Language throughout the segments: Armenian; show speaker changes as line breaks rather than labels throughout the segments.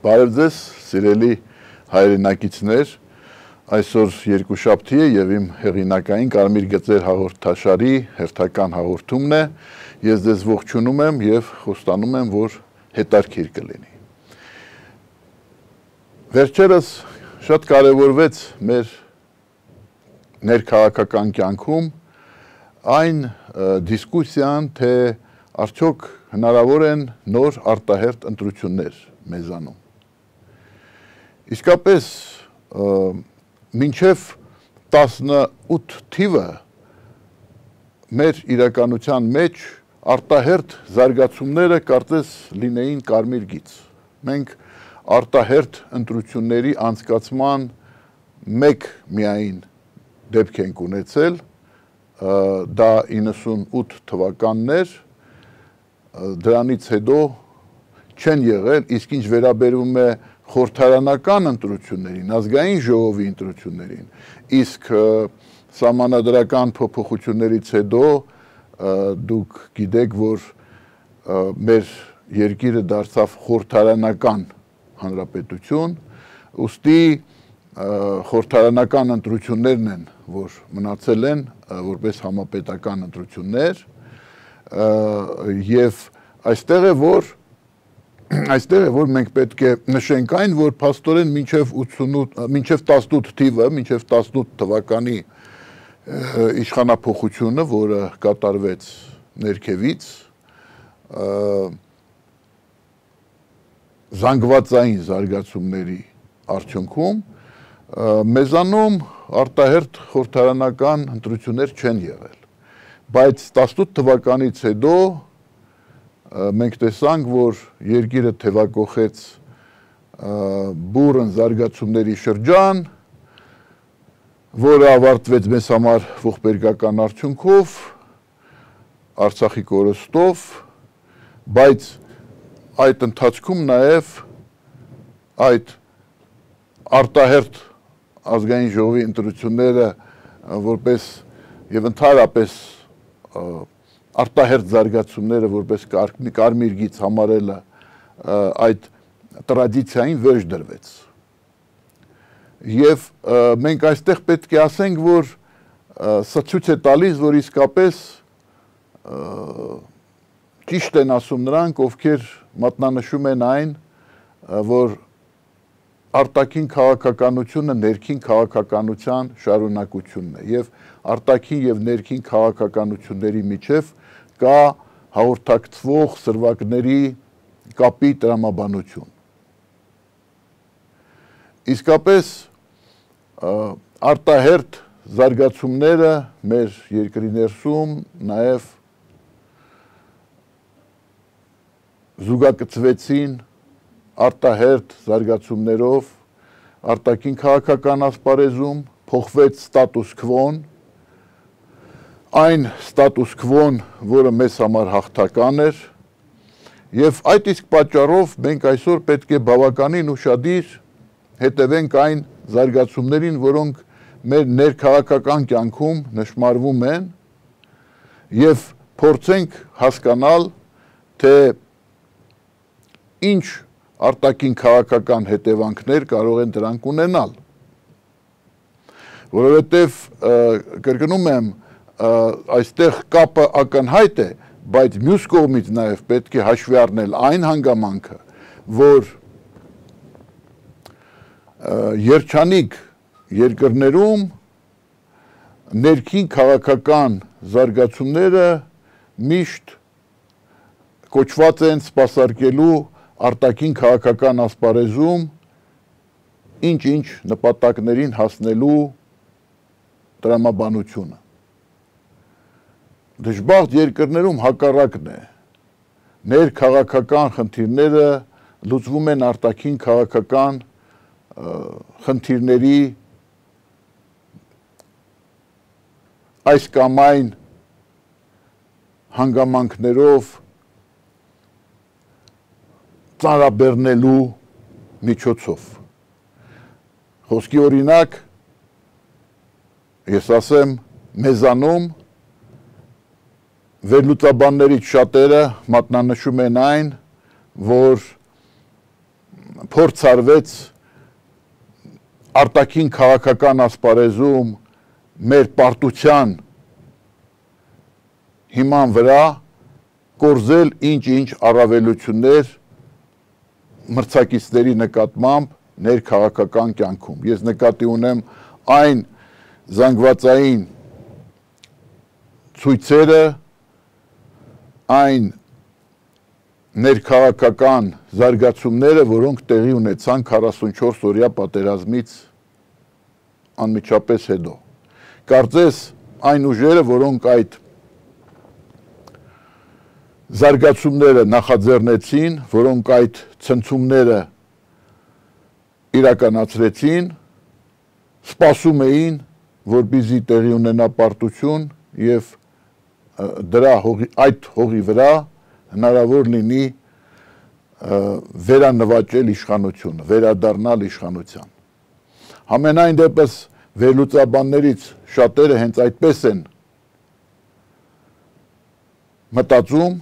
Բարև ձեզ, սիրելի հայրենակիցներ, այսօր երկուշաբթի է եւ իմ հեղինակային Կարմիր գծեր հաղորդաշարի հերթական հաղորդումն է։ Ես ձեզ ողջունում եմ եւ խոստանում եմ, որ հետաքրքիր կլինի։ Վերջերս շատ կարևորվեց մեր ներքաղաքական կյանքում այն դիսկուսիան, թե արդյոք հնարավոր են նոր արտահերթ ընտրություններ մեզանում։ Իսկապես մինչև 18 թիվը մեր իրականության մեջ արտահերթ զարգացումները կարծես լինեին կարմիր գիծ։ Մենք արտահերթ ընտրությունների անցկացման մեկ միայն դեպք ենք ունեցել, դա 98 թվականն էր, դրանից հետո չեն եղել, իսկ ինչ վերաբերում է խորհրդարանական ընտրություններին, ազգային ժողովի ընտրություններին, իսկ սահմանադրական փոփոխություններից հետո դուք գիտեք, որ մեր երկիրը դարձավ խորհրդարանական հանրապետություն, ուստի խորհրդարանական ընտրություններն են, որ մնացել են որպես համապետական ընտրություններ, եւ այստեղ է, որ մենք պետք է նշենք այն, որ փաստորեն մինչև 18 թիվը, մինչև 18 թվականի իշխանափոխությունը, որը կատարվեց ներքևից, զանգվածային զարգացումների արդյունքում, մեզանում արտահերթ խորհրդարանական ընտրություններ չեն եղել, բայց 18 թվականից հետո մենք տեսանք, որ երկիրը թևակոխեց բուռն զարգացումների շրջան, որը ավարտվեց մեզ համար ողբերգական արդյունքով, Արցախի կորստով, բայց այդ ընթացքում նաև այդ արտահերթ ազգային ժողովի ընտրությունները որպես եւ ընդհանրապես արտահերթ զարգացումները որպես կարմիր գիծ համարելը այդ տրադիցիային վերջ դրվեց։ Եվ մենք այստեղ պետք է ասենք, որ սա ցույց է տալիս, որ իսկապես ճիշտ են ասում նրանք, ովքեր մատնանշում են այն, որ արտաքին քաղաքականությունը ներքին քաղաքականության շարունակությունն է եւ արտաքին եւ ներքին քաղաքականությունների միջև կա հաղորդակցվող սրվակների կապի տրամաբանություն։ Իսկապես արտահերթ զարգացումները մեր երկրի ներսում նաև զուգակցվեցին արտահերթ զարգացումներով արտաքին քաղաքական ասպարեզում, փոխվեց ստատուս քվոն, այն ստատուս քվոն, որը մեզ համար հաղթական էր, եւ այդ իսկ պատճառով մենք այսօր պետք է բավականին ուշադիր հետևենք այն զարգացումներին, որոնք մեր ներքաղաքական կյանքում նշմարվում են եւ փորձենք հասկանալ, թե ինչ արտաքին քաղաքական հետևանքներ կարող են դրանք ունենալ, որովհետև կրկնում եմ, այստեղ կապը ակնհայտ է, բայց մյուս կողմից նաև պետք է հաշվի առնել այն հանգամանքը, որ երջանիկ երկրներում ներքին քաղաքական զարգացումները միշտ կոչված են սպասարկելու արտաքին քաղաքական ասպարեզում ինչ-ինչ նպատակներին հասնելու տրամաբանությունը։ Դժբախտ երկրներում հակառակն է։ Ներքաղաքական խնդիրները լուծվում են արտաքին քաղաքական խնդիրների այս կամ այն հանգամանքներով ծանրաբեռնելու միջոցով։ Խոսքի օրինակ, ես ասեմ, մեզանում վերլուծաբաններից շատերը մատնանշում են այն, որ փորձ արվեց արտաքին քաղաքական ասպարեզում մեր պարտության հիման վրա կորզել ինչ-ինչ առավելություններ մրցակիցների նկատմամբ ներքաղաքական կյանքում։ Ես նկատի ունեմ այն զանգվածային ցույցերը, այն ներքաղաքական զարգացումները, որոնք տեղի ունեցան 44 օրյա պատերազմից անմիջապես հետո։ Կարծես այն ուժերը, որոնք այդ զարգացումները նախաձեռնեցին, որոնք այդ ցնցումները իրականացրեցին, սպասում էին, որպեսզի տեղի ունենա պարտություն եւ այդ հողի վրա հնարավոր լինի վերանվաճել իշխանությունը, վերադառնալ իշխանության։ Համենայն դեպս վերլուծաբաններից շատերը հենց այդպես են մտածում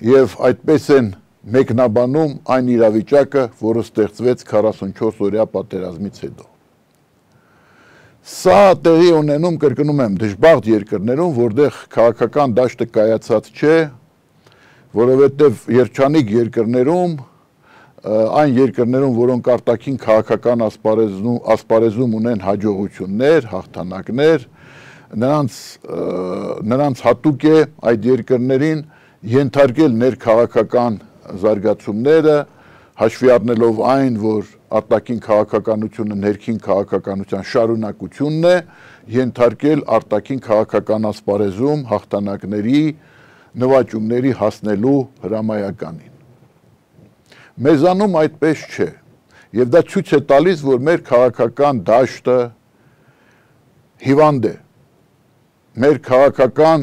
եւ այդպես են մեկնաբանում այն իրավիճակը, որը ստեղծվեց 44 օրյա պատերազմից հետո։ Սա տեղի ունենում, կրկնում եմ, դժբախտ երկրներում, որտեղ քաղաքական դաշտը կայացած չէ, որովհետև երջանիկ երկրներում, այն երկրներում, որոնք արտաքին քաղաքական ասպարեզում ունեն հաջողություններ, հաղթանակներ, նրանց հատուկ է այդ երկրներին ենթարկել ներքաղաքական զարգացումները, հաշվի առնելով այն, որ արտաքին քաղաքականությունը ներքին քաղաքականության շարունակությունն է, ենթարկել արտաքին քաղաքական ասպարեզում հաղթանակների, նվաճումների հասնելու հրամայականին։ Մեզանում այդպես չէ, եւ դա ցույց է տալիս, որ մեր քաղաքական դաշտը հիվանդ է, մեր քաղաքական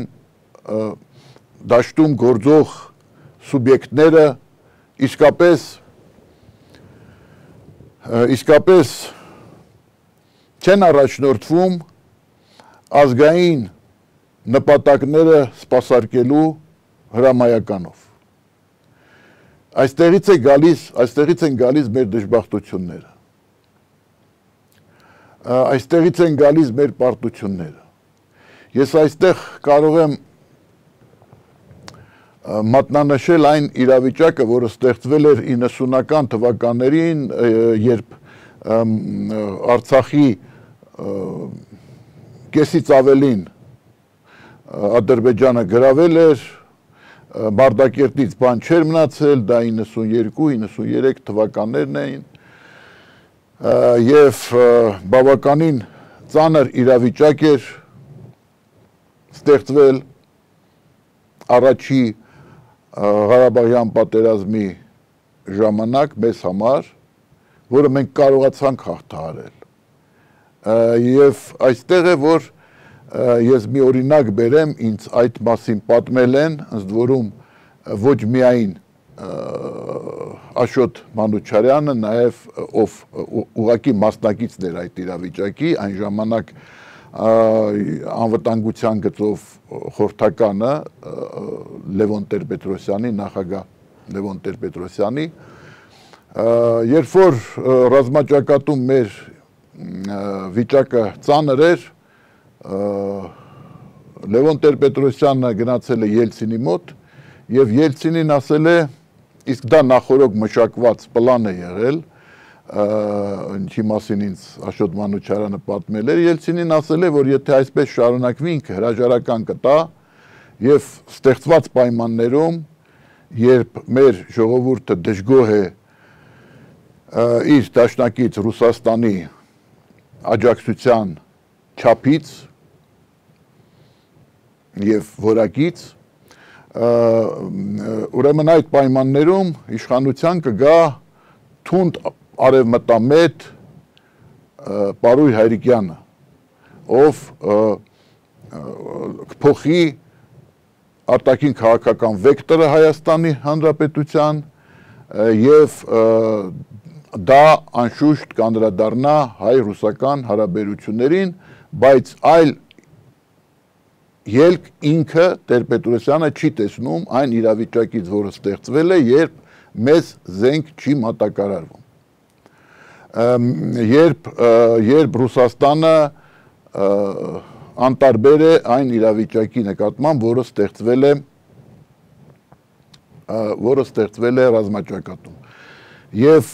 դաշտում գործող սուբյեկտները իսկապես չեն առաջնորդվում ազգային նպատակները սպասարկելու հրամայականով։ Այստեղից են գալիս մեր դժբախտությունները, այստեղից են գալիս մեր պարտությունները։ Ես այստեղ կարող եմ մատնանշել այն իրավիճակը, որը ստեղծվել էր 90-ական թվականներին, երբ Արցախի կեսից ավելին Ադրբեջանը գրավել էր, Մարտակերտից բան չէր մնացել, դա 92-93 թվականներն էին, եւ բավականին ծանր իրավիճակ էր ստեղծվել առաջի Ղարաբաղյան պատերազմի ժամանակ մեզ համար, որը մենք կարողացանք հաղթահարել։ Եվ այստեղ է, որ ես մի օրինակ բերեմ, ինձ այդ մասին պատմել են, ըստ որում ոչ միայն Աշոտ Մանուչարյանը, նաև ով ուղղակի մասնակիցն էր այդ իրավիճակի, այն ժամանակ անվտանգության գծով խորհրդականը Լևոն Տեր-Պետրոսյանի, նախագահ Լևոն Տեր-Պետրոսյանի, երբ որ ռազմաճակատում մեր վիճակը ծանր էր, Լևոն Տեր-Պետրոսյանը գնացել է Ելցինի մոտ եւ Ելցինին ասել է, իսկ դա նախորոք մշակված պլան է եղել, ինչի մասին ինձ Աշոտ Մանուչարյանը պատմել էր, Ելցինին ասել է, որ եթե այսպես շարունակվի ինքը հրաժարական կտա եւ ստեղծված պայմաններում, երբ մեր ժողովուրդը դժգոհ է իր դաշնակից Ռուսաստանի աջակցության չափից եւ որակից, ուրեմն այդ պայմաններում իշխանության կգա թունդ արևմտամետ Պարույր Հայրիկյանը, ով կփոխի արտաքին քաղաքական վեկտորը Հայաստանի Հանրապետության եւ դա անշուշտ կանդրադառնա հայ-ռուսական հարաբերություններին, բայց այլ ելք ինքը Տեր-Պետրոսյանը չի տեսնում այն իրավիճակից, որը ստեղծվել է, երբ մեզ զենք չի մատակարարվում։ Երբ Ռուսաստանը անտարբեր է այն իրավիճակի նկատմամբ, որը ստեղծվել է ռազմաճակատում։ Եվ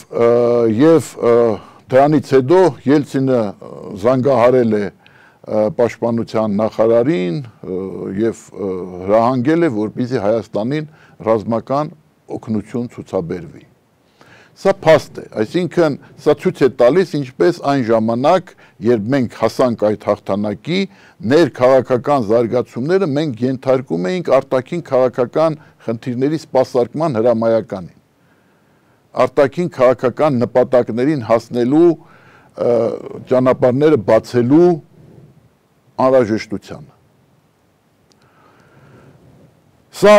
դրանից հետո Ելցինը զանգահարել է պաշտպանության նախարարին եւ հրահանգել է, որպեսզի Հայաստանին ռազմական օգնություն ցուցաբերվի։ Սա փաստ է, այսինքն սա ցույց է տալիս, ինչպես այն ժամանակ, երբ մենք հասանք այդ հաղթանակի, ներքաղաքական զարգացումները մենք ենթարկում էինք արտաքին քաղաքական խնդիրների սպասարկման հրամայականին, արտաքին քաղաքական նպատակներին հասնելու ճանապարհները բացելու անհրաժեշտությանը։ Սա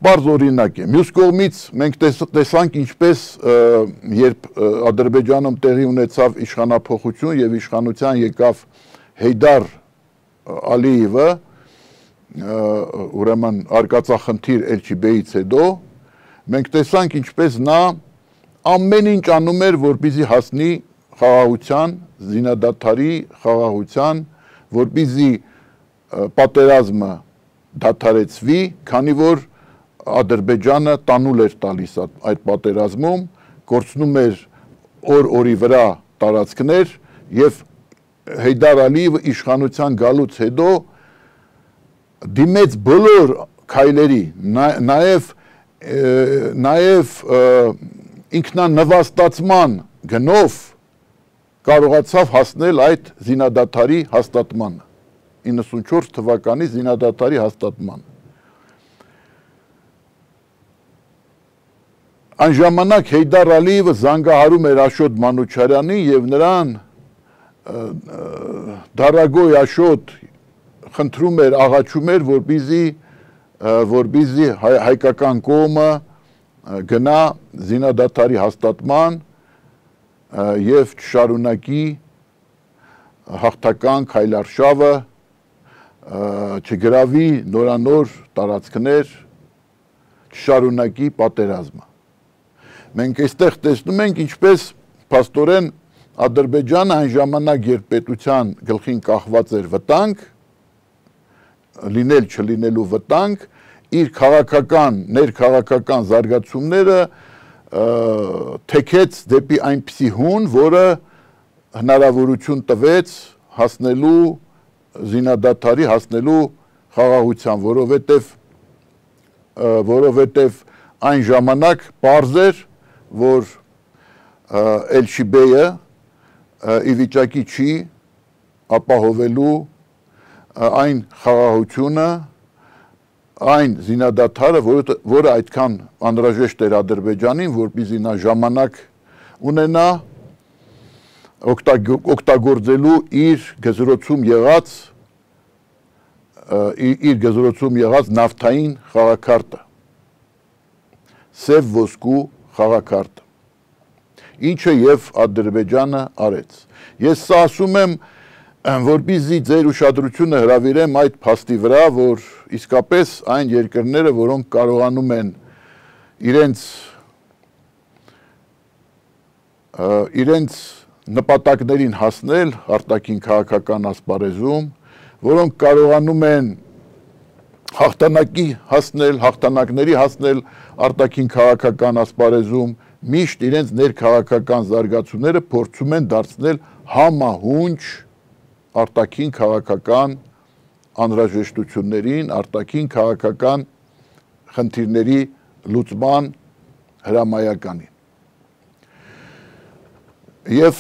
բարձ օրինակ է։ Մյուս կողմից մենք տեսանք ինչպես երբ Ադրբեջանում տեղի ունեցավ իշխանափոխություն եւ իշխանության եկավ Հեյդար Ալիևը, ուրեմն արկածախնդիր Էլչիբեից հետո, մենք տեսանք ինչպես նա ամեն ինչ անում էր, որպեսզի հասնի խաղաղության, զինադադարի խաղաղության, որպեսզի պատերազմը դադարեցվի, քանի որ Ադրբեջանը տանուլ էր տալիս այդ պատերազմում, կորցնում էր օր-օրի վրա տարածքներ եւ Հեյդար Ալիևը իշխանության գալուց հետո դիմեց բոլոր քայլերի, նաեւ ինքնանվաստացման գնով կարողացավ հասնել այդ զինադադարի հաստատմանը, 94 թվականի զինադադարի հաստատմանը։ Այն ժամանակ Հեյդար Ալիևը զանգահարում էր Աշոտ Մանուչարյանին եւ նրան դարագոյ Աշոտ խնդրում էր, աղաչում էր, որպեսզի հայկական կողմը գնա զինադադարի հաստատման եւ չշարունակի հաղթական քայլարշավը, չգրավի նորանոր տարածքներ, չշարունակի պատերազմը։ Մենք այստեղ տեսնում ենք, ինչպես փաստորեն Ադրբեջանը այն ժամանակ, երբ պետության գլխին կախված էր վտանգ, լինել չլինելու վտանգ, իր ներքաղաքական զարգացումները թեքեց դեպի այնպիսի հուն, որը հնարավորություն տվեց հասնելու զինադադարի, հասնելու խաղաղության, որովհետև այն ժամանակ պարզ էր, որ Էլչիբեյը ի վիճակի չի ապահովելու այն խաղաղությունը, այն զինադադարը, որը այդքան անհրաժեշտ էր Ադրբեջանին, որպեսզի նա ժամանակ ունենա օգտագործելու իր գզրոցում եղած նավթային խաղաքարտը, սև ոսկու խաղաքարտը, ինչը եւ Ադրբեջանը արեց։ Ես սա ասում եմ, որպեսզի ձեր ուշադրությունը հրավիրեմ այդ փաստի վրա, որ իսկապես այն երկրները, որոնք կարողանում են իրենց նպատակներին հասնել արտաքին քաղաքական ասպարեզում, որոնք կարողանում են հաղթանակների հասնել արտաքին քաղաքական ասպարեզում, միշտ իրենց ներքաղաքական զարգացումները փորձում են դարձնել համահունչ արտաքին քաղաքական անհրաժեշտություններին, արտաքին քաղաքական խնդիրների լուծման հրամայականին։ Եվ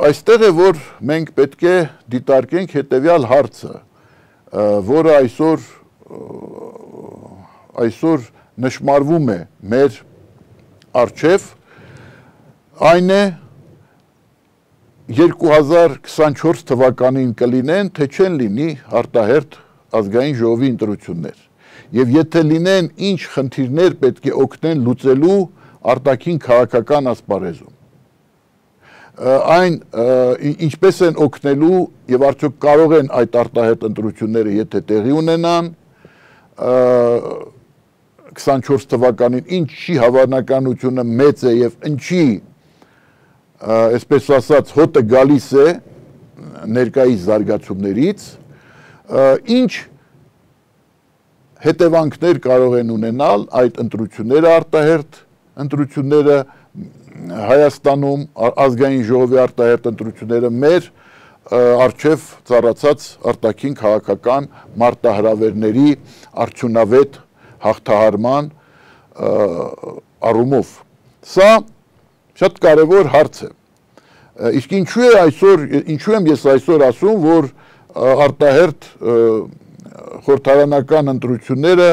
այստեղ է, որ մենք պետք է դիտարկենք հետևյալ հարցը, որը այսօր նշմարվում է մեր առջև, այն է 2024 թվականին կլինեն, թե չեն լինի արտահերթ ազգային ժողովի ընտրություններ։ Եվ եթե լինեն, ինչ խնդիրներ պետք է օգնեն լուծելու արտաքին քաղաքական ասպարեզում։ Այն ինչպես են օգնելու եւ արդյոք կարող են այդ արտահերթ ընտրությունները եթե տեղի ունենան, 24 թվականին ինչի հավանականությունը մեծ է եւ ինչի այսպես ասած հոտը գալիս է ներկայիս զարգացումներից, ինչ հետևանքներ կարող են ունենալ այդ ընտրությունները արտահերթ ընտրությունները Հայաստանում ազգային ժողովի արտահերթ ընտրությունները մեր առջև ծառացած արտաքին քաղաքական մարտահրավերների արդյունավետ հաղթահարման առումով։ Սա շատ կարևոր հարց է։ Իսկ ինչու եմ ես այսօր ասում, որ արտահերթ խորհրդարանական ընտրությունները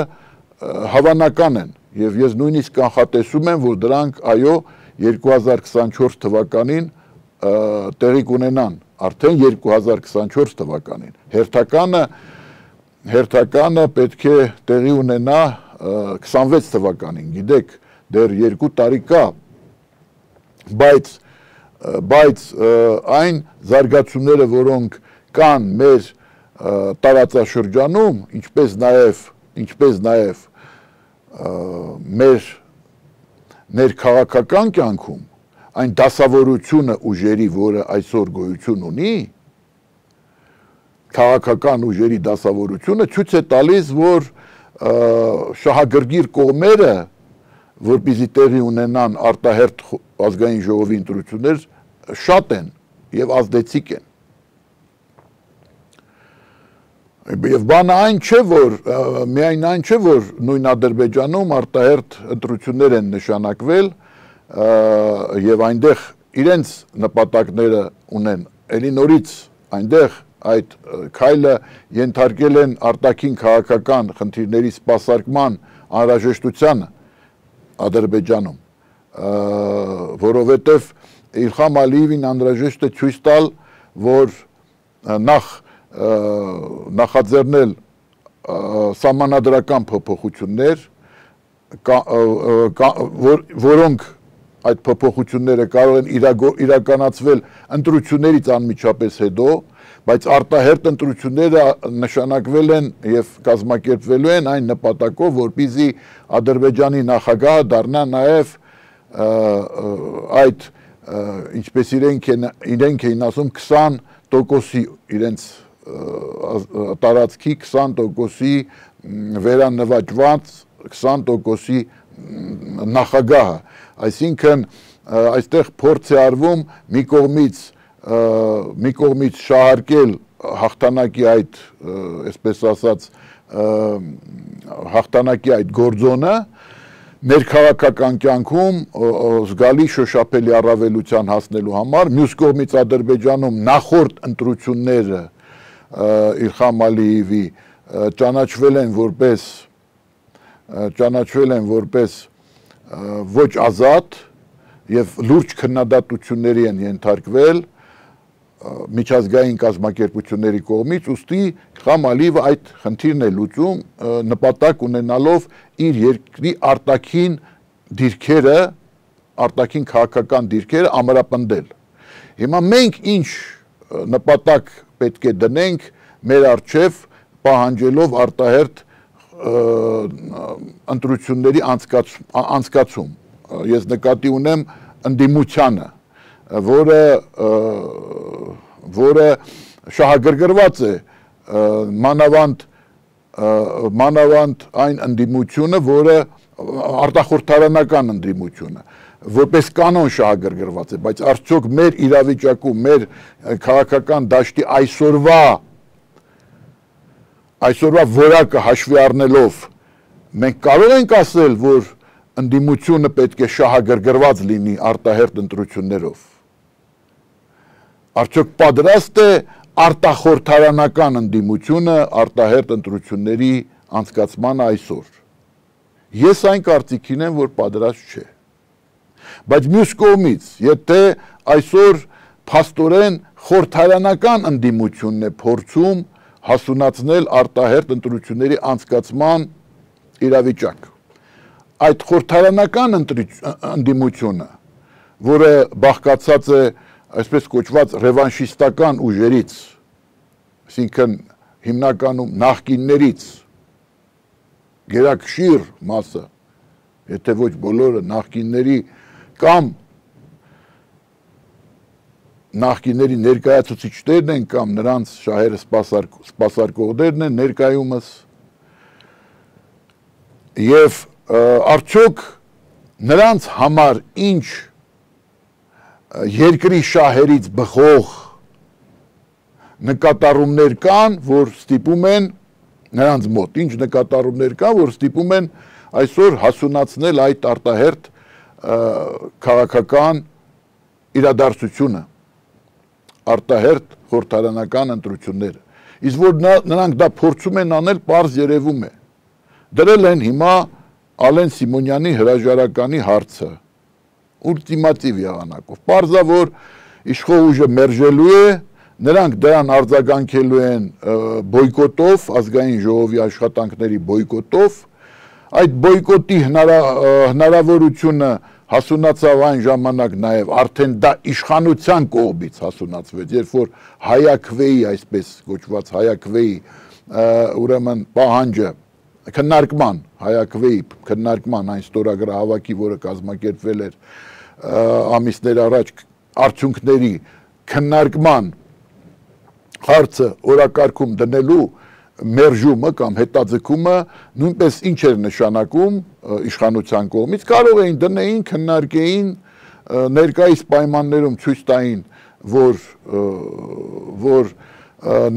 հավանական են, եւ ես նույնիսկ կանխատեսում եմ, որ դրանք այո 2024 թվականին տեղի կունենան, արդեն 2024 թվականին։ Հերթականը պետք է տեղի ունենա 26 թվականին, գիտեք, դեռ 2 տարի կա, բայց այն զարգացումները, որոնք կան մեր տարածաշրջանում, ինչպես նաև մեր ներքաղաքական կյանքում, այն դասավորությունը ուժերի, որը այսօր գոյություն ունի, քաղաքական ուժերի դասավորությունը ցույց է տալիս, որ շահագրգիռ կողմերը, որպեսզի տեղի ունենան արտահերթ ազգային ժողովի ընտրություններ, շատ են եւ ազդեցիկ են։ Եվ բանը այն չէ, որ միայն այն չէ, որ նույն Ադրբեջանում արտահերթ ընտրություններ են նշանակվել եւ այնտեղ իրենց նպատակները ունեն, ելի նորից այնտեղ այդ քայլը ենթարկել են արտաքին քաղաքական խնդիրների սպասարկման անհրաժեշտությանը Ադրբեջանում, որովհետեւ Իլհամ Ալիևին անհրաժեշտ է ցույց տալ, որ նախաձեռնել սահմանադրական փոփոխություններ, որոնք այդ փոփոխությունները կարող են իրականացվել ընտրություններից անմիջապես հետո, բայց արտահերթ ընտրությունները նշանակվել են եւ կազմակերպվելու են այն նպատակով, որպեսզի Ադրբեջանի նախագահը դառնա նաեւ այդ ինչպես իրենք էին ասում 20%-ի իրենց տարածքի 20%-ի վերանվաճված 20%-ի նախագահը, այսինքն այստեղ փորձ է արվում մի կողմից շահարկել հաղթանակի այդ, այսպես ասած, հաղթանակի այդ գործոնը, ներքաղաքական կյանքում զգալի շոշափելի առավելության հասնելու համար, մյուս կողմից Ադրբեջանում նախորդ ընտրությունները Իլհամ Ալիևի ճանաչվել են որպես ոչ ազատ եւ լուրջ քննադատությունների են ենթարկվել միջազգային կազմակերպությունների կողմից, ուստի Իլհամ Ալիևը այդ խնդիրն է լուծում նպատակ ունենալով իր երկրի արտաքին դիրքերը, արտաքին քաղաքական դիրքերը ամրապնդել։ Հիմա մենք ինչ նպատակ պետք է դնենք մեր առջև պահանջելով արտահերթ ընտրությունների անցկացում։ Ես նկատի ունեմ ընդդիմությանը, որը շահագրգռված է մանավանդ այն ընդդիմությունը, որը արտախորհրդարանական ընդդիմությունը, որպես կանոն շահագրգռված է, բայց արդյոք մեր իրավիճակում, մեր քաղաքական դաշտի այսօրվա որակը հաշվի առնելով մենք կարող ենք ասել, որ ընդդիմությունը պետք է շահագրգռված լինի արտահերթ ընտրություններով։ Արդյոք պատրաստ է արտախորհրդարանական ընդդիմությունը արտահերթ ընտրությունների անցկացմանը այսօր։ Ես այն կարծիքին եմ, որ պատրաստ չէ։ Բայց մյուս կողմից, եթե այսօր փաստորեն խորհրդարանական ընդդիմությունն է փորձում հասունացնել արտահերթ ընտրությունների անցկացման իրավիճակ, այդ խորհրդարանական ընդդիմությունը, որը բաղկացած է այսպես կոչված ռևանշիստական ուժերից, այսինքն հիմնականում նախկիններից գերակշիռ մասը եթե ոչ բոլորը նախկինների կամ նախկինների ներկայացուցիչներն են կամ նրանց շահերը սպասարկողներն են ներկայումս եւ արդյոք նրանց համար ինչ երկրի շահերից բխող նկատառումներ կան, որ ստիպում են նրանց մոտ, ինչ նկատառումներ կան, որ ստիպում են այսօր հասունացնել այդ արտահերթ քաղաքական իրադարձությունը, արտահերթ խորհրդարանական ընտրությունները։ Իսկ որ նրանք դա փորձում են անել, պարզ երևում է։ Դրել են հիմա Ալեն Սիմոնյանի հրաժարականի հարցը, ուլտիմատիվ եղանակով։ Պարզա, որ իշխող ուժը մերժելու է, նրանք դրան արձագանքելու են բոյկոտով, ազգային ժողովի աշխատանքների բոյկոտով, այդ բոյկոտի հնարավորությունը հասունացավ այն ժամանակ նաև արդեն դա իշխանության կողմից հասունացվեց, երբ որ հայաքվեի, այսպես կոչված հայաքվեի ուրեմն պահանջը քննարկման, հայաքվեի քննարկման այն ստորագրահավաքի, որը կազմակերպվել էր ամիսներ առաջ արդյունքների քննարկման հարցը օրակարգում դնելու մերժումը կամ հետաձգումը նույնպես ինչ էր նշանակում իշխանության կողմից, կարող էին դնեին, քննարկեին, ներկայիս պայմաններում ցույց տային, որ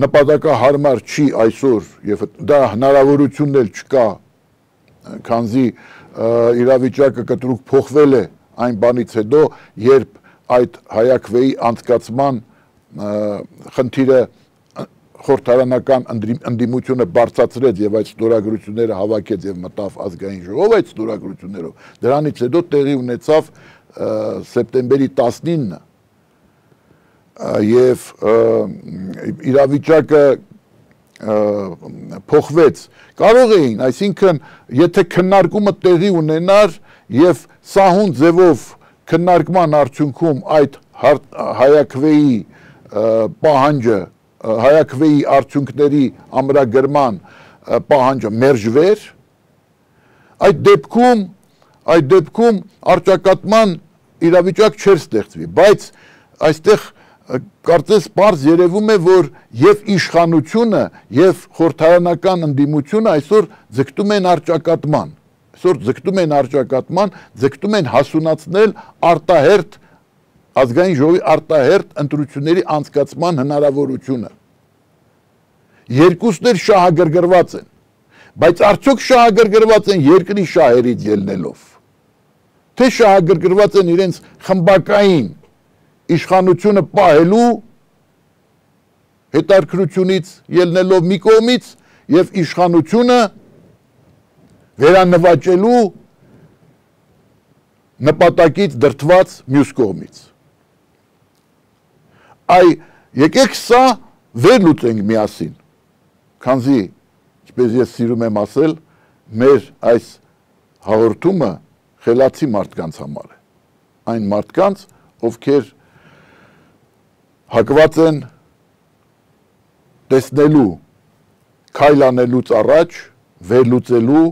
նպատակահարմար չի այսօր եւ դա հնարավորությունն էլ չկա, քանզի իրավիճակը կտրուկ փոխվել է այն բանից հետո, երբ այդ հայաքվեի անցկացման խնդիրը խորհրդարանական ընդդիմությունը բարձրացրեց եւ այդ ստորագրությունները հավաքեց եւ մտավ ազգային ժողով այդ ստորագրություններով։ Դրանից հետո տեղի ունեցավ սեպտեմբերի 19-ը եւ իրավիճակը փոխվեց։ Կարող էին, այսինքն, եթե քննարկումը տեղի ունենար եւ սահուն ձևով քննարկման արդյունքում այդ հայաքվեի պահանջը, հայաքվեի արդյունքների ամրագրման պահանջը մերժվեր, այդ դեպքում առճակատման իրավիճակ չէր ստեղծվի, բայց այստեղ կարծես պարզ երևում է, որ եւ իշխանությունը եւ խորհրդարանական ընդդիմությունը այսօր ձգտում են առճակատման, ձգտում են հասունացնել արտահերթ ազգային ժողովի արտահերթ ընտրությունների անցկացման հնարավորությունը։ Երկուսն էլ շահագրգռված են, բայց արդյոք շահագրգռված են երկրի շահերից ելնելով, թե շահագրգռված են իրենց խմբակային իշխանությունը պահելու հետարքրությունից ելնելով մի կողմից եւ իշխանությունը վերանվաճելու նպատակից դրդված մյուս կողմից։ Եկեք սա վերլուծենք միասին, քանզի, ինչպես ես սիրում եմ ասել, մեր այս հաղորդումը խելացի մարդկանց համար է, այն մարդկանց, ովքեր հակված են տեսնելու, քայլ անելուց առաջ, վերլուծելու,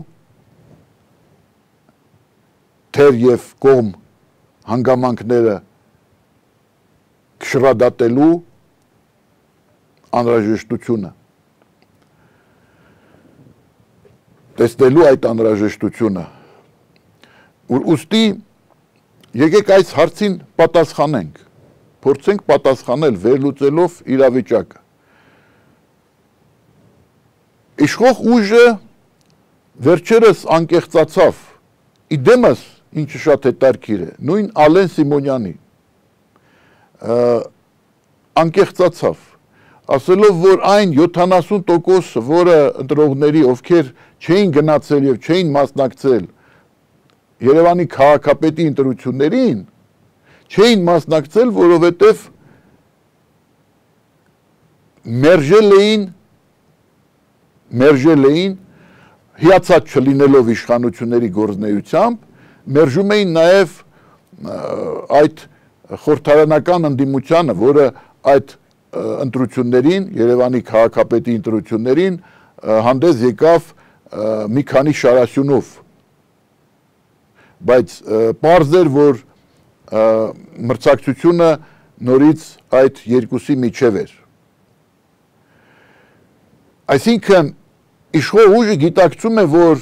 թեր եւ կողմ հանգամանքները քշրադատելու անհրաժեշտությունը, տեսնելու այդ անհրաժեշտությունը, ուստի եկեք այս հարցին պատասխանենք, փորձենք պատասխանել վերլուծելով իրավիճակը։ Իշխող ուժը վերջերս անկեղծացավ, իդեմս, ինչը շատ հետարքիր է, նույն Ալեն Սիմոնյանի անկեղծացավ, ասելով, որ այն 70%, որը ընտրողների, ովքեր չէին գնացել եւ չէին մասնակցել Երևանի քաղաքապետի ընտրություններին, չէին մասնակցել, որովհետև մերժել էին հիացած չլինելով իշխանությունների գործունեությամբ, մերժում էին նաև այդ խորհրդարանական ընդդիմությանը, որը այդ ընտրություններին, Երևանի քաղաքապետի ընտրություններին հանդես եկավ մի քանի շարասյունով։ բայց պարզ էր, որ մրցակցությունը նորից այդ երկուսի միջև էր։ Այսինքն իշխող ուժը գիտակցում է, որ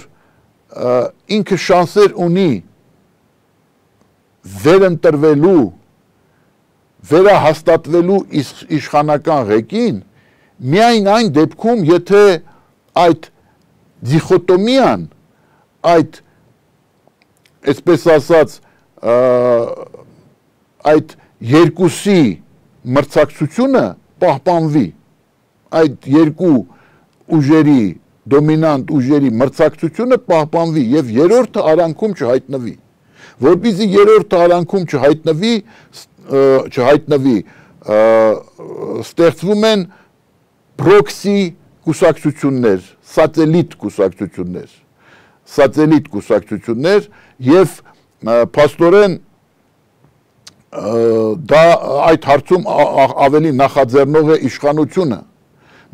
ինքը շանսեր ունի վերընտրվելու, վերահաստատվելու իշխանական ղեկին միայն այն դեպքում, եթե այդ դիխոտոմիան, այդ այսպես ասած այդ երկուսի մրցակցությունը պահպանվի, այդ երկու ուժերի, դոմինանտ ուժերի մրցակցությունը պահպանվի և երրորդը արանքում չհայտնվի, որպեսզի երրորդը արանքում չհայտնվի, ստեղծվում են պրոքսի կուսակցություններ, սատելիտ կուսակցություններ և փաստորեն դա այդ հարցում ավելի նախաձեռնող է իշխանությունը։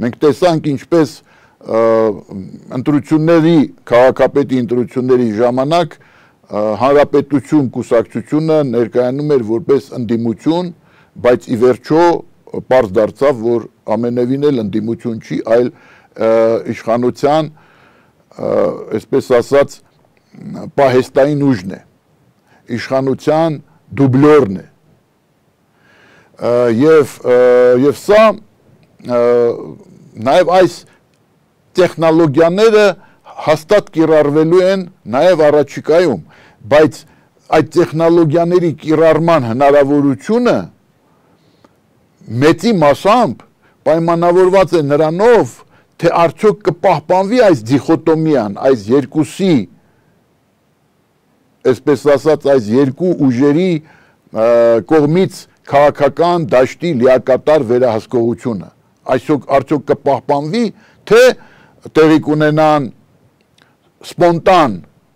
Մենք տեսանք ինչպես ընտրությունների, քաղաքապետի ընտրությունների ժամանակ հանրապետություն կուսակցությունը ներկայանում էր որպես ընդդիմություն, բայց ի վերջո պարզ դարձավ, որ ամենևին էլ ընդդիմություն չի, այլ իշխանության, այսպես ասած, պահեստային ուժն է, իշխանության դուբլորն է։ Եվ սա նաև այս տեխնոլոգիաները հաստատ կիրառվելու են նաև առաջիկայում, բայց այդ տեխնոլոգիաների կիրառման հնարավորությունը մեծի մասամբ պայմանավորված է նրանով, թե արդյոք կպահպանվի այս դիխոտոմիան, այս երկուսի, այսպես ասած, այս երկու ուժերի կողմից քաղաքական դաշտի լիակատար վերահսկողությունը, արդյոք կպահպանվի, թե տեղի կունենան սպոնտան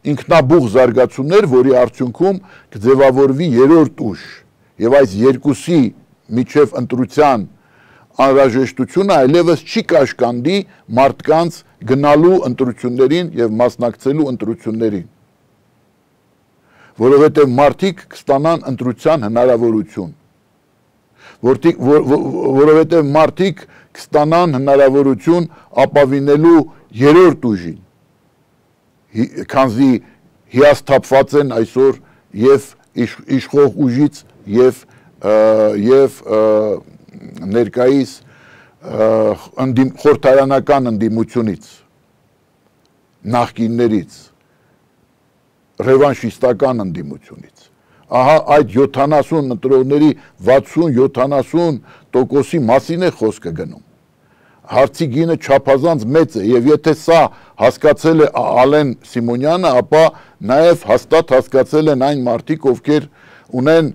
ինքնաբուխ զարգացումներ, որի արդյունքում կձևավորվի երրորդ ուժ, և այս երկուսի միջև ընտրության անհրաժեշտությունը այլևս չի կաշկանդի մարդկանց գնալու ընտրություններին և մասնակցելու ընտրություններին, որովհետև մարդիկ կստանան ընտրության հնարավորություն, որովհետև մարդիկ կստանան հնարավորություն ապավինելու երրորդ ուժին, քանզի հիասթափված են այսօր և իշխող ուժից և ներկայիս խորհրդարանական ընդդիմությունից, նախկիններից, ռևանշիստական ընդդիմությունից։ Ահա այդ 70 ընտրողների 60-70%-ի մասին է խոսքը գնում։ Հարցի գինը չափազանց մեծ է, և եթե սա հասկացել է Ալեն Սիմոնյանը, ապա նաև հաստատ հասկացել են այն մարդիկ, ովքեր ունեն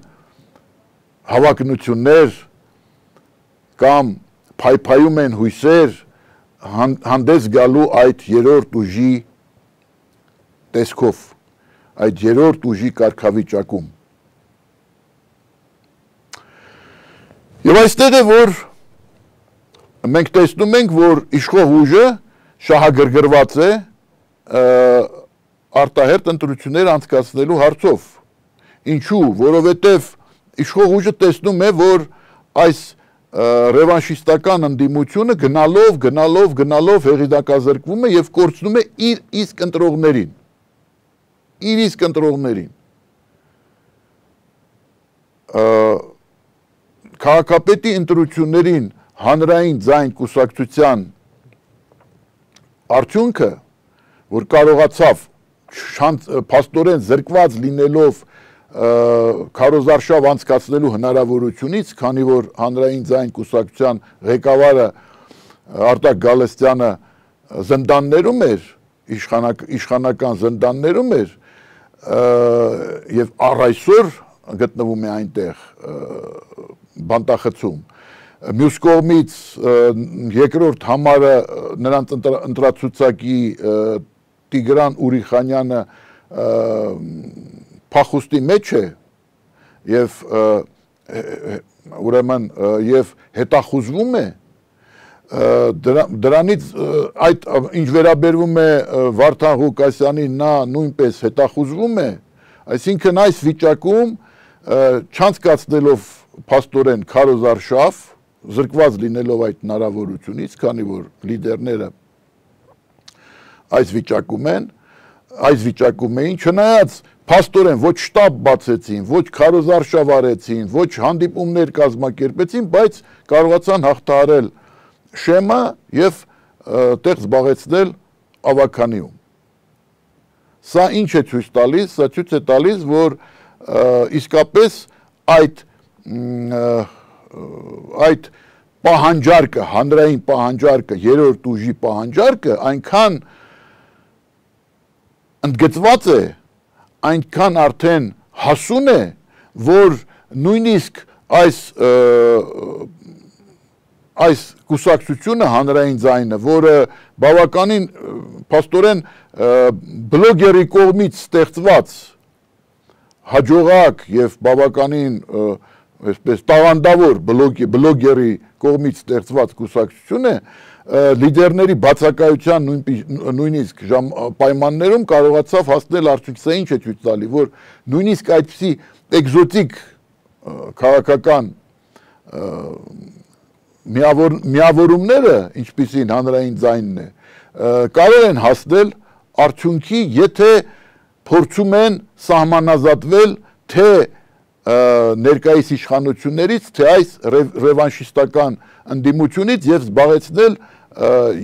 հավակնություններ կամ փայփայում են հույսեր հանդես գալու այդ երրորդ ուժի տեսքով, այդ երրորդ ուժի կարգավիճակում։ Եվ այստեղ է, որ մենք տեսնում ենք, որ իշխող ուժը շահագրգռված է արտահերթ ընտրություններ անցկացնելու հարցով։ Ինչու՞, որովհետև իշխող ուժը տեսնում է, որ այս ռևանշիստական ընդդիմությունը գնալով հեղինակազրկվում է և կորցնում է իր իսկ ընտրողներին։ Քաղաքապետի ընտրություններին հանրային ձայն կուսակցության արդյունքը, որ կարողացավ փաստորեն զրկված լինելով քարոզարշավ անցկացնելու հնարավորությունից, քանի որ հանրային ձայն կուսակցության ղեկավարը Արտակ Գալստյանը զնդաններում էր, իշխանական զնդաններում էր և առ այսօր գտնվում է այնտեղ բանտախցում։ Մյուս կողմից երկրորդ համարը նրանց ընտրացուցակի Տիգրան Ուրիխանյանը փախուստի մեջ է և ուրեմն և հետախուզվում է, դրանից ինչ վերաբերվում է Վարդան Ղուկասյանին, նա նույնպես հետախուզվում է, Այսինքն այս վիճակում չանցկացնելով փաստորեն քարոզարշավ, զրկված լինելով այդ հնարավորությունից, քանի որ լիդերները այս վիճակում էին, չնայած փաստորեն ոչ շտաբ բացեցին, ոչ քարոզարշավ արեցին, ոչ հանդիպումներ կազմակերպեցին, բայց կարողացան հաղթահարել շեմը եւ տեղ զբաղեցնել ավականիում։ Սա ինչ է ցույց տալիս, սա ցույց է տալիս, որ իսկապես այդ պահանջարկը, հանրային պահանջարկը, երրորդ ուժի պահանջարկը այնքան ընդգծված է, այնքան արդեն հասուն է, որ նույնիսկ այս կուսակցությունը հանրային ձայնը, որը բավականին փաստորեն բլոգերի կողմից ստեղծված հաջողակ եւ բավականին այսպես տաղանդավոր բլոգերի կողմից ստեղծված կուսակցություն է, լիդերների բացակայության նույնիսկ պայմաններում կարողացավ հասնել արդյունքի, սա ինչ է ցույց տալի, որ նույնիսկ այդպիսի էկզոտիկ քաղաքական միավորումները, ինչպիսին հանրային ձայնն է, կարող են հասնել արդյունքի, եթե փորձում են սահմանազատվել թե ներկայիս իշխանություններից, թե այս ռևանշիստական ընդդիմությունից եւ զբաղեցնել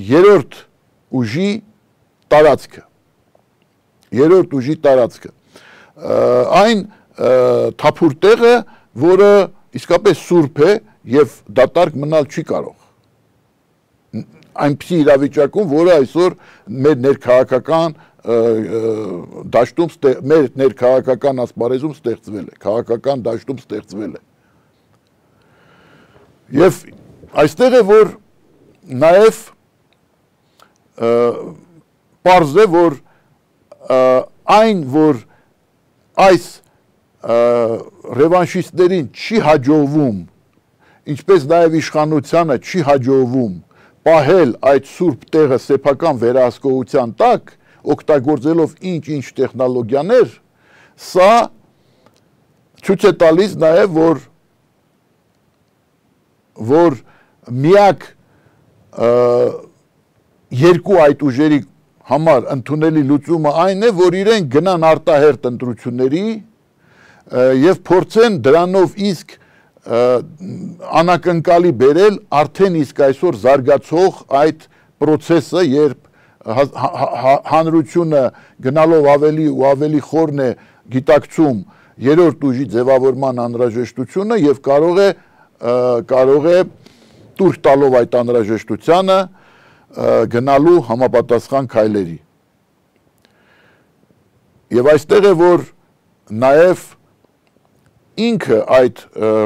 երրորդ ուժի տարածքը։ Այն թափուր տեղը, որը իսկապես սուրբ է եւ դատարկ մնալ չի կարող։ Այնպիսի իրավիճակում, որը այսօր մեր ներքաղաքական դաշտում, մեր ներքաղաքական ասպարեզում ստեղծվել է, քաղաքական դաշտում ստեղծվել է։ Եվ այստեղ է, որ նաև պարզ է, որ այն, որ այս ռևանշիստներին չի հաջողվում, ինչպես նաև իշխանությանը չի հաջողվում պահել այդ սուրբ տեղը սեփական վերահսկողության տակ, օգտագործելով ինչ-ինչ տեխնոլոգիաներ, սա ցույց է տալիս նաև, որ միակ երկու այդ ուժերի համար ընդունելի լուծումը այն է, որ իրենք գնան արտահերթ ընտրությունների եւ փորձեն դրանով իսկ անակնկալի բերել արդեն իսկ այսօր զարգացող այդ process-ը, երբ հանրությունը գնալով ավելի ու ավելի խորն է գիտակցում երրորդ ուժի ձևավորման անհրաժեշտությունը եւ կարող է տուրք տալով այդ անհրաժեշտությանը գնալու համապատասխան քայլերի։ Եվ այստեղ է, որ նաև ինքը այդ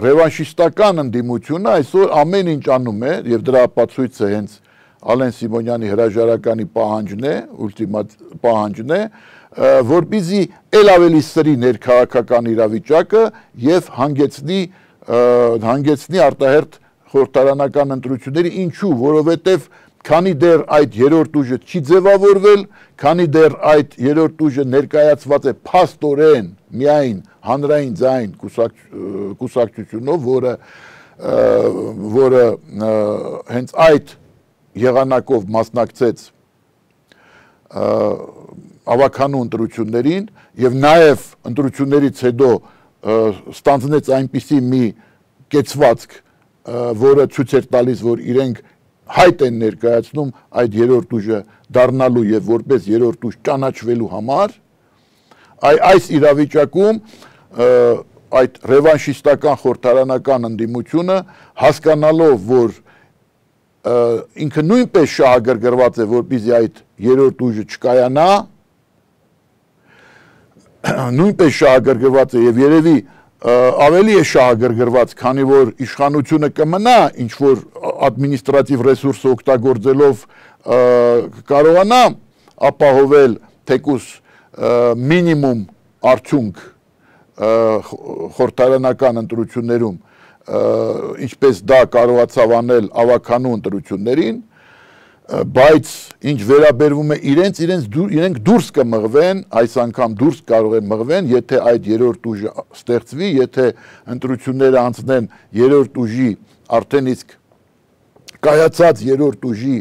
ռևանշիստական ընդդիմությունը այսօր ամեն ինչ անում է, եւ դրա ապացույցը հենց Ալեն Սիմոնյանի հրաժարականի պահանջն է, որպեսզի ել ավելի սրի ներքաղաքական իրավիճակը եւ հանգեցնի արտահերթ խորհրդարանական ընտրությունների, ինչու, որովհետեւ քանի դեռ այդ երրորդ ուժը չի ձևավորվել, քանի դեռ այդ երրորդ ուժը ներկայացված է փաստորեն միայն հանրային ձայն կուսակցությունով, որը հենց այդ եղանակով մասնակցեց ավականու ընտրություններին եւ նաեւ ընտրություններից հետո ստանձնեց այնպիսի մի կեցվածք, որը ցույց էր տալիս, որ իրենք հայտ են ներկայացնում այդ երրորդ ուժը դառնալու եւ որպես երրորդ ուժ ճանաչվելու համար, այս իրավիճակում այդ ռևանշիստական խորհրդարանական ընդդիմությունը հասկանալով, որ ինքը նույնպես շահագրգռված է, որպեսզի այդ երրորդ ուժը չկայանա, նույնպես շահագրգռված է եւ երևի ավելի է շահագրգռված, քանի որ իշխանությունը կմնա ինչ որ ադմինիստրատիվ ռեսուրսը օգտագործելով կարողանա ապահովել թեկուս մինիմում արդյունք խորհրդարանական ընտրություններում, ինչպես դա կարողացավ անել ավականու ընտրություններին, բայց ինչ վերաբերվում է իրենք դուրս կմղվեն, այս անգամ դուրս կարող են մղվեն, եթե այդ երրորդ ուժը ստեղծվի, եթե ընտրությունները անցնեն երրորդ ուժի արդեն իսկ կայացած երրորդ ուժի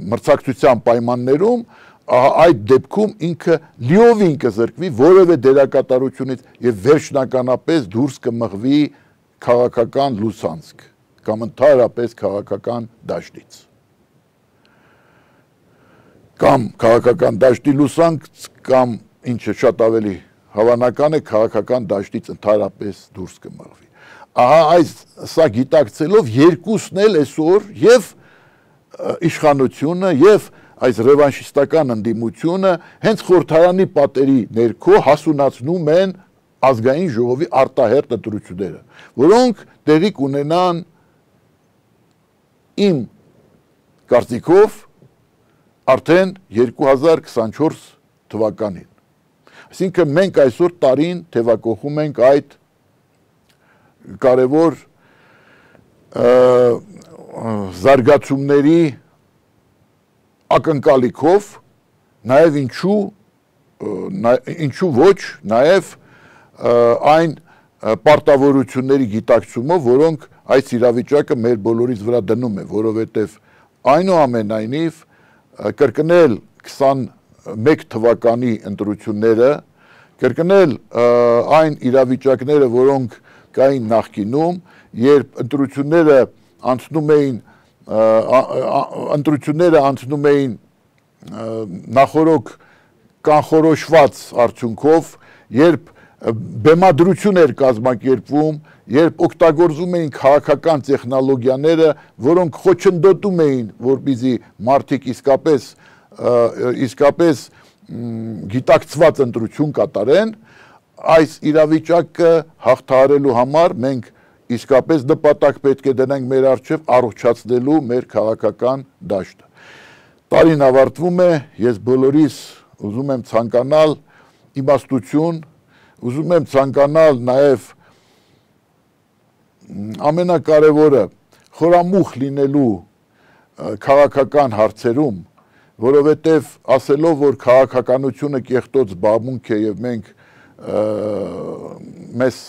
մրցակցության պայմաններում, այդ դեպքում ինքը լիովին կզրկվի որևէ դերակատարությունից եւ վերջնականապես դուրս կմղվի քաղաքական լուսանցք կամ ընդհանրապես քաղաքական դաշտից կամ քաղաքական դաշտի լուսանք կամ ինչը շատ ավելի հավանական է քաղաքական դաշտից ընդհանրապես դուրս կմղվի ահա սա գիտակցելով երկուսն էլ այսօր եւ իշխանությունը եւ այս ռևանշիստական ընդդիմությունը հենց խորհրդարանի պատերի ներքո հասունացնում են ազգային ժողովի արտահերտ ընտրությունները, որոնք տեղի կունենան իմ կարծիքով արդեն 2024 թվականին։ Այսինքն մենք այսօր տարին թևակողում ենք այդ կարևոր զարգացումների ակնկալիքով, նաև ինչու ոչ, նաև այն պարտավորությունների գիտակցումով, որոնք այս իրավիճակը մեր բոլորիս վրա դնում է, որովհետև այնուամենայնիվ կրկնել 21 թվականի ընտրությունները, կրկնել այն իրավիճակները, որոնք կային նախկինում, երբ ընտրությունները անցնում էին նախորոք կանխորոշված արդյունքով, երբ բեմադրություն էր կազմակերպվում, երբ օգտագործում էին քաղաքական տեխնոլոգիաները, որոնք խոչընդոտում էին, որպեսզի մարդիկ իսկապես գիտակցված ընտրություն կատարեն, այս իրավիճակը հաղթահարելու համար մենք իսկապես նպատակ պետք է դնենք մեր առջև առողջացնելու մեր քաղաքական դաշտը։ Տարին ավարտվում է, ես բոլորիս ուզում եմ ցանկանալ իմաստություն, ուզում եմ ցանկանալ նաև ամենակարևորը խորամուխ լինելու քաղաքական հարցերում, որովհետև ասելով, որ քաղաքականությունը կեղտոտ զբաղմունք է եւ մենք մեզ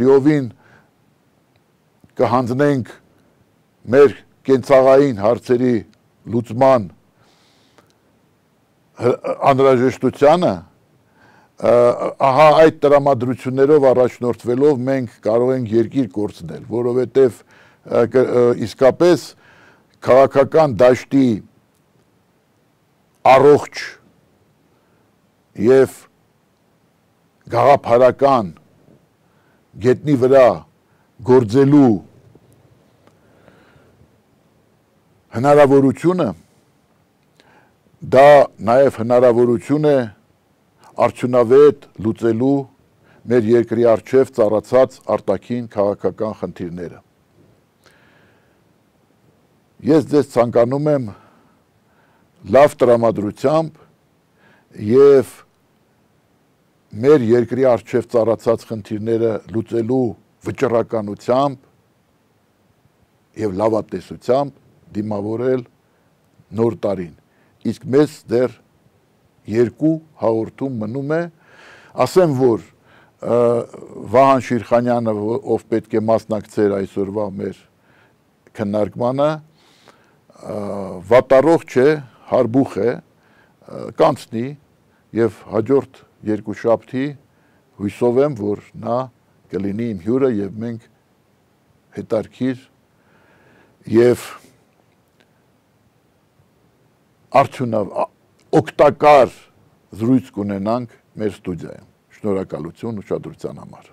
լիովին կհանձնենք մեր կենցաղային հարցերի լուծման անհրաժեշտությանը, ահա այդ տրամադրություններով առաջնորդվելով մենք կարող ենք երկիր կորցնել, որովհետև իսկապես քաղաքական դաշտի առողջ եւ գաղափարական գետնի վրա գործելու հնարավորությունը դա նաև հնարավորություն է արդյունավետ լուծելու մեր երկրի առջև ծառացած արտաքին քաղաքական խնդիրները։ Ես ձեզ ցանկանում եմ լավ տրամադրությամբ եւ մեր երկրի առջև ծառացած խնդիրները լուծելու վճռականությամբ եւ լավատեսությամբ դիմավորել նոր տարին։ Իսկ մեզ դեռ երկու հաղորդում մնում է, ասեմ, որ Վահան Շիրխանյանը, ով պետք է մասնակցեր այսօրվա մեր քննարկմանը, վատառողջ չէ, հարբուխ է, կանցնի եւ հաջորդ երկուշաբթի հույսով եմ, որ նա կլինի իմ հյուրը եւ մենք հետարքիր եւ օգտակար զրույց կունենանք մեր ստուդիայում։ Շնորհակալություն ուշադրության համար։